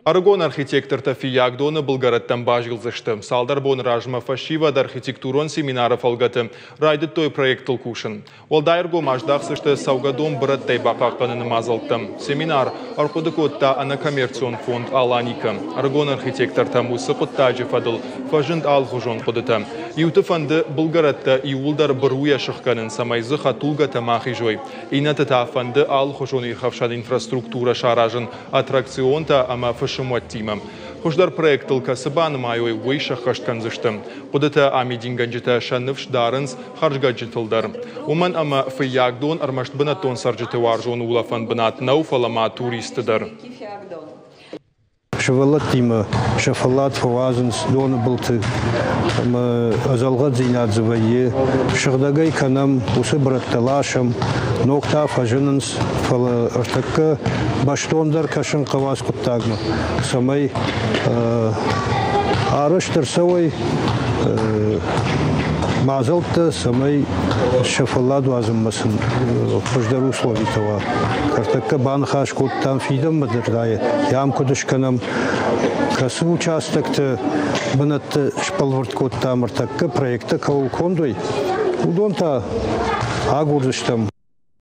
Ӕрыгон архитектортӕ Фыййагдоны былгӕрӕттӕм базилдзысты. Цалдӕр боны размӕ фӕсивӕд архитектурон семинары фӕлгӕты райдыдтой проектыл кусын. Уӕлдай ӕргом аздахдзысты цӕугӕдон бырӕттӕй бахъахъхъӕныны мадзӕлттӕм. Семинар ӕрхъуыды кодта ӕнӕкоммерцион фонд «Аланика». Ӕрыгон архитектортӕм уыцы хъуыддаджы фӕдыл фӕзынд алыхуызон хъуыдытӕ. Иуты фӕнды былгӕрӕттӕ иууылдӕр быруйӕ сыхгӕнын, цӕмӕй дзы хӕдтулгӕтӕ ма хизой. Иннӕты та фӕнды алыхуызон ирхӕфсӕн инфраструктурӕ саразын аттракционтӕ ӕмӕ фысымуӕттимӕ. Хуыздӕр проектыл кӕцы банымайой, уый сӕххӕст кӕндзысты. Хъуыдытӕ амидингӕнджытӕ сӕ ныфс дарынц хӕрзгӕнджытыл дӕр. Уымӕн ӕмӕ Фыййагдон ӕрмӕст бынӕттон цӕрджыты уарзон улӕфӕн бынат нӕу, фӕлӕ ма туристты дӕр. Сывӕллӕттимӕ сӕ фӕллад фӕуадзынц доны былты ӕмӕ ӕдзӕлгъӕддзинад дзы вӕййы. Сыгъдӕгӕй кӕнӕм, уыцы бырӕттӕ ласӕм, ног та фӕзынынц, фӕлӕ ӕртӕккӕ бӕстондӕр кӕсын хъӕуы ацы хъуыддагмӕ, цӕмӕй арӕзт ӕрцӕуой мадзӕлттӕ, цӕмӕй сӕ фӕллад уадзынмӕ сын хуыздӕр условитӕ уа. Ӕртӕккӕ баныхас кодтам фидӕнмӕ дӕр ам куыд скӕнӕм, кӕцы участокты бынӕтты сбӕлвырд кодтам ӕртӕккӕ проекттӕ кӕуыл конд уой, уыдон та агурдзыстӕм.